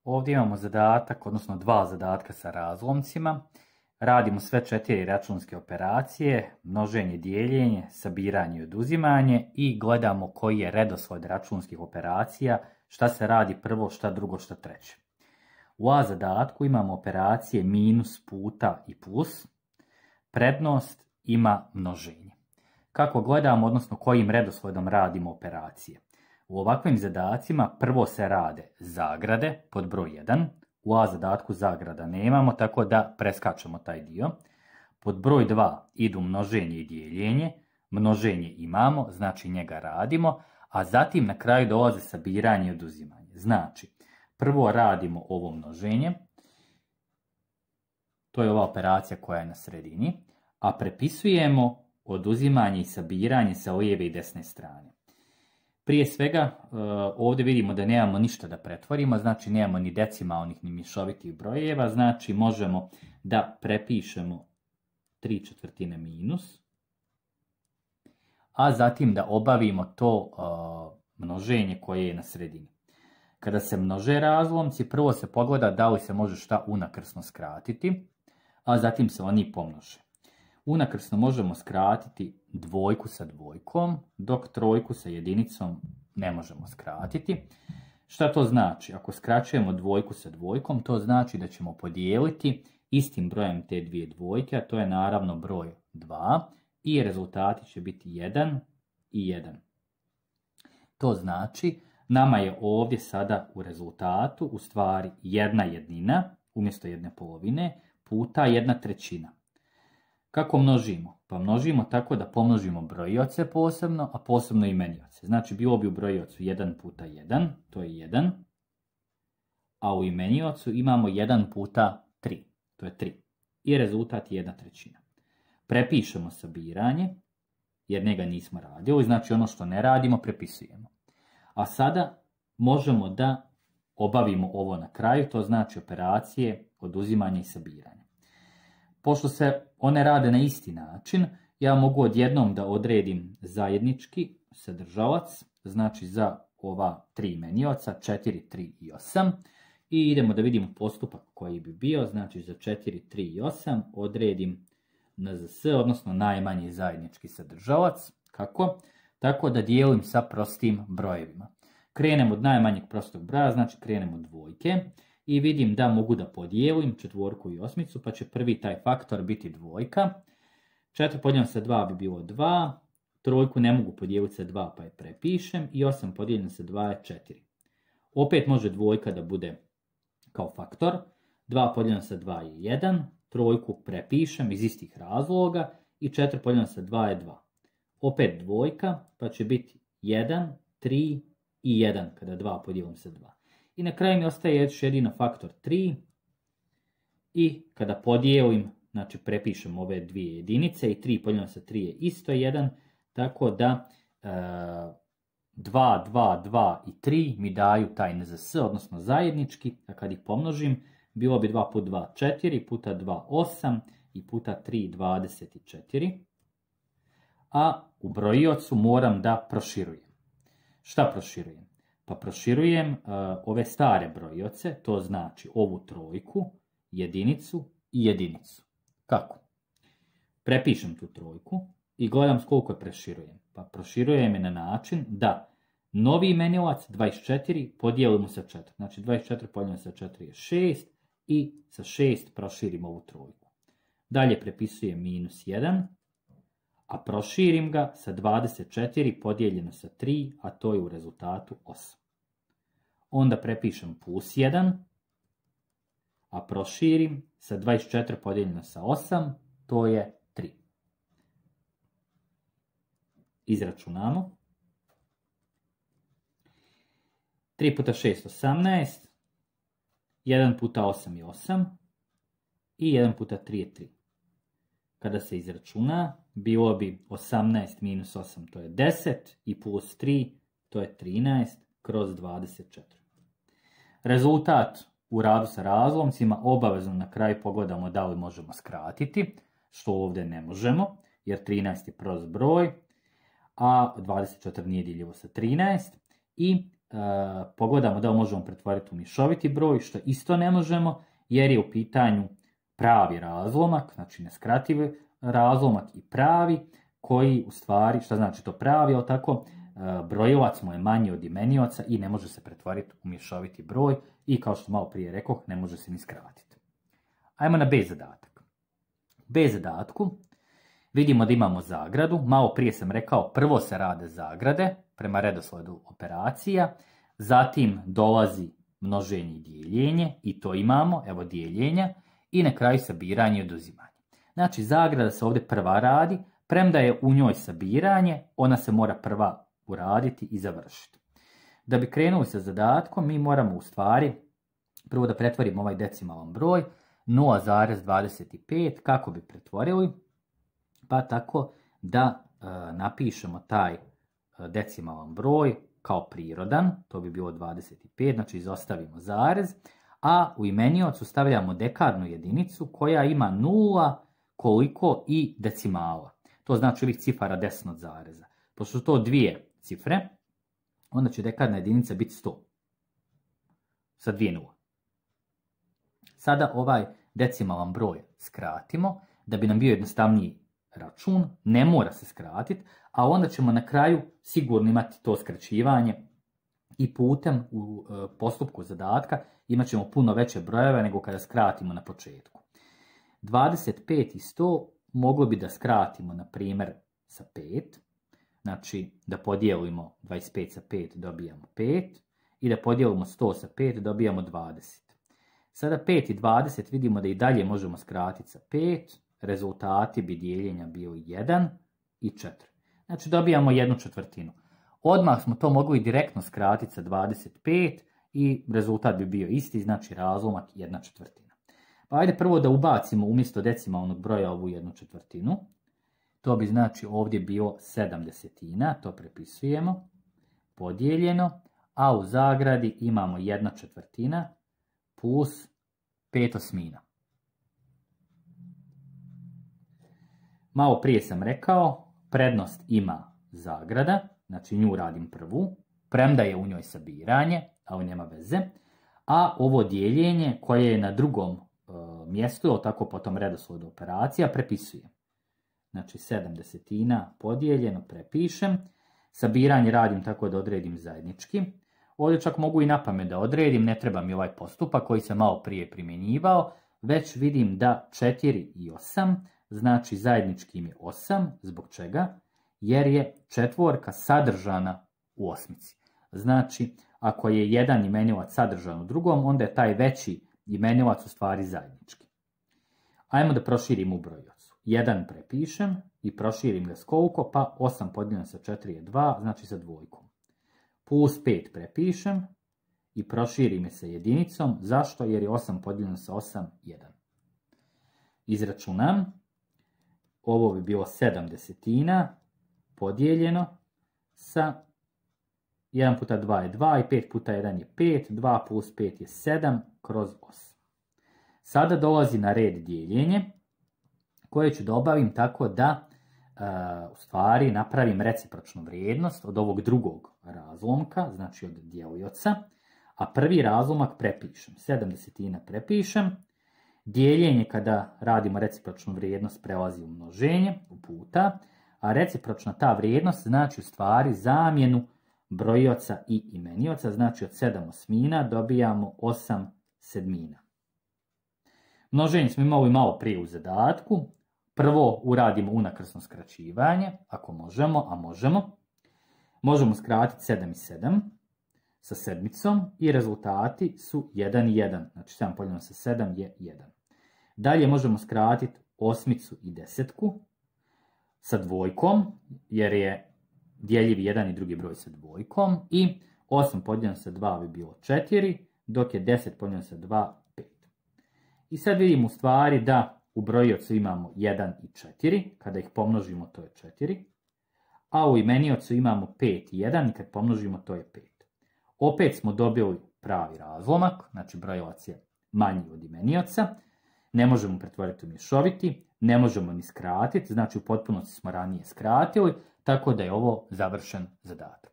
Ovdje imamo zadatak, odnosno dva zadatka sa razlomcima. Radimo sve 4 računske operacije, množenje, dijeljenje, sabiranje i oduzimanje i gledamo koji je redosled računskih operacija, šta se radi prvo, šta drugo, šta treće. U A zadatku imamo operacije minus, puta i plus. Prednost ima množenje. Kako gledamo, odnosno kojim redosledom radimo operacije? U ovakvim zadacima prvo se rade zagrade pod broj 1. U A zadatku zagrada nemamo, tako da preskačemo taj dio. Pod broj 2 idu množenje i dijeljenje. Množenje imamo, znači njega radimo, a zatim na kraju dolaze sabiranje i oduzimanje. Znači, prvo radimo ovo množenje, to je ova operacija koja je na sredini, a prepisujemo oduzimanje i sabiranje sa lijeve i desne strane. Prije svega, ovdje vidimo da nemamo ništa da pretvorimo, znači nemamo ni decimalnih ni mješovitih brojeva, znači možemo da prepišemo 3/4 minus, a zatim da obavimo to množenje koje je na sredini. Kada se množe razlomci, prvo se pogleda da li se može šta unakrsno skratiti, a zatim se oni pomnože. Unakrsno možemo skratiti dvojku sa dvojkom, dok trojku sa jedinicom ne možemo skratiti. Šta to znači? Ako skraćujemo dvojku sa dvojkom, to znači da ćemo podijeliti istim brojem te dvije dvojke, a to je naravno broj 2, i rezultati će biti 1 i 1. To znači, nama je ovdje sada u rezultatu u stvari 1/1 umjesto 1/2 puta 1/3. Kako množimo? Pa množimo tako da pomnožimo brojioce posebno, a posebno imenioce. Znači bilo bi u brojiocu 1 puta 1, to je 1, a u imeniocu imamo 1 puta 3, to je 3. I rezultat je 1/3. Prepišemo sabiranje, jer njega nismo radili, znači ono što ne radimo prepisujemo. A sada možemo da obavimo ovo na kraju, to znači operacije oduzimanja i sabiranja. Pošto se one rade na isti način, ja mogu odjednom da odredim zajednički sadržalac, znači za ova 3 imenioca, 4, 3 i 8. I idemo da vidimo postupak koji bi bio, znači za 4, 3 i 8 odredim NZS, odnosno najmanji zajednički sadržalac. Kako? Tako da dijelim sa prostim brojevima. Krenem od najmanjeg prostog broja, znači krenem od dvojke. I vidim da mogu da podijelim četvorku i osmicu, pa će prvi taj faktor biti dvojka. 4 podijeljeno sa 2 bi bilo 2, trojku ne mogu podijeliti sa 2 pa je prepišem i 8 podijeljeno sa 2 je 4. Opet može dvojka da bude kao faktor, 2 podijeljeno sa 2 je 1, trojku prepišem iz istih razloga i 4 podijeljeno sa 2 je 2. Opet dvojka pa će biti 1, 3 i 1 kada 2 podijelim sa 2. I na kraju mi ostaje još jedino faktor 3 i kada podijelim, znači prepišem ove dvije jedinice i 3 podijeljeno sa 3 je isto 1, tako da 2, 2, 2 i 3 mi daju taj NZS, odnosno zajednički, a kad ih pomnožim, bilo bi 2 puta 2, 4, puta 2, 8 i puta 3, 24. A u brojiocu moram da proširujem. Šta proširujem? Pa proširujem ove stare brojioce, to znači ovu trojku, jedinicu i jedinicu. Kako? Prepišem tu trojku i gledam s koliko je proširujem. Pa proširujem je na način da novi imenilac 24 podijelimo sa 4. Znači 24 podijeljeno sa 4 je 6 i sa 6 proširim ovu trojku. Dalje prepisujem minus 1, a proširim ga sa 24 podijeljeno sa 3, a to je u rezultatu 8. Onda prepišem plus 1, a proširim sa 24 podijeljeno sa 8, to je 3. Izračunamo. 3 puta 6 18, 1 puta 8 je 8 i 1 puta 3 je 3. Kada se izračuna, bilo bi 18 minus 8, to je 10, i plus 3, to je 13 kroz 24. Rezultat u radu sa razlomcima obavezno na kraju pogledamo da li možemo skratiti, što ovdje ne možemo, jer 13 je prost broj, a 24 nije diljivo sa 13. I pogledamo da li možemo pretvoriti u mješoviti broj, što isto ne možemo, jer je u pitanju pravi razlomak, znači neskrativi razlomak i pravi, koji u stvari, šta znači to pravi, ali tako, brojilac mu je manji od imenioca i ne može se pretvoriti u mješoviti broj i kao što malo prije rekoh, ne može se ni skratiti. Ajmo na B zadatak. B zadatku vidimo da imamo zagradu, malo prije sam rekao prvo se rade zagrade prema redoslijedu operacija, zatim dolazi množenje i dijeljenje i to imamo, evo dijeljenja, i na kraju sabiranje i oduzimanje. Znači zagrada se ovdje prva radi, premda je u njoj sabiranje, ona se mora prva uraditi i završiti. Da bi krenuli sa zadatkom, mi moramo u stvari prvo da pretvorimo ovaj decimalan broj 0,25, kako bi pretvorili, pa tako da napišemo taj decimalan broj kao prirodan, to bi bilo 25, znači izostavimo zarez, a u imeniocu stavljamo dekadnu jedinicu koja ima 0 koliko i decimala. To znači ovih cifara desno od zareza. Pošto su to dvije cifre, onda će dekadna jedinica biti 100. Sa 2 nula. Sada ovaj decimalan broj skratimo, da bi nam bio jednostavniji račun, ne mora se skratiti, a onda ćemo na kraju sigurno imati to skraćivanje i putem u postupku zadatka imat ćemo puno veće brojeve nego kada skratimo na početku. 25 i 100 moglo bi da skratimo, na primjer, sa 5, znači da podijelimo 25 sa 5 dobijamo 5 i da podijelimo 100 sa 5 dobijamo 20. Sada 5 i 20 vidimo da i dalje možemo skratiti sa 5, rezultati bi dijeljenja bili 1 i 4. Znači dobijamo 1/4. Odmah smo to mogli direktno skratiti sa 25 i rezultat bi bio isti, znači razlomak 1/4. Pa ajde prvo da ubacimo umjesto decimalnog broja ovu 1/4. To bi znači ovdje bilo 7/10, to prepisujemo, podijeljeno, a u zagradi imamo 1/4 plus 5/8. Malo prije sam rekao, prednost ima zagrada, znači nju radim prvu, premda je u njoj sabiranje, ali nema veze, a ovo dijeljenje koje je na drugom mjestu, tako potom redoslijedu operacija, prepisujem. Znači 7/10 podijeljeno prepišem, sabiranje radim tako da odredim zajednički. Ovdje čak mogu i na pamet da odredim, ne treba mi ovaj postupak koji sam malo prije primjenjivao, već vidim da 4 i 8, znači zajednički mi je 8, zbog čega? Jer je četvorka sadržana u osmici. Znači, ako je jedan imenilac sadržan u drugom, onda je taj veći imenilac u stvari zajednički. Ajmo da proširimo u brojocu. 1 prepišem i proširim ga s koliko? Pa 8 podijeljeno sa 4 je 2, znači sa dvojkom. Plus 5 prepišem i proširim je sa jedinicom. Zašto? Jer je 8 podijeljeno sa 8, 1. Izračunam. Ovo bi bilo 7/10 podijeljeno sa 1 puta 2 je 2 i 5 puta 1 je 5, 2 plus 5 je 7 kroz 8. Sada dolazi na red dijeljenje koje ću da obavim tako da u stvari napravim recipročnu vrijednost od ovog drugog razlomka, znači od dijelioca, a prvi razlomak prepišem. 7/10 prepišem, dijeljenje kada radimo recipročnu vrijednost prelazi u množenje, u puta, a recipročna ta vrijednost znači u stvari zamjenu brojioca i imenioca, znači od 7/8 dobijamo 8/7. Množenje smo imali malo prije u zadatku. Prvo uradimo unakrsno skraćivanje, ako možemo, a možemo. Možemo skratiti 7 i 7 sa sedmicom i rezultati su 1 i 1. Znači 7 podijeljeno sa 7 je 1. Dalje možemo skratiti osmicu i desetku sa dvojkom, jer je dijeljiv jedan i drugi broj sa dvojkom. I 8 podijeljeno sa 2 bi bilo 4, dok je 10 podijeljeno sa 2, 5. I sad vidimo u stvari da u brojiocu imamo 1 i 4, kada ih pomnožimo to je 4, a u imeniocu imamo 5 i 1 i kad pomnožimo to je 5. Opet smo dobili pravi razlomak, znači brojilac je manji od imenioca, ne možemo pretvoriti u mješoviti, ne možemo ni skratiti, znači u potpunosti smo ranije skratili, tako da je ovo završen zadatak.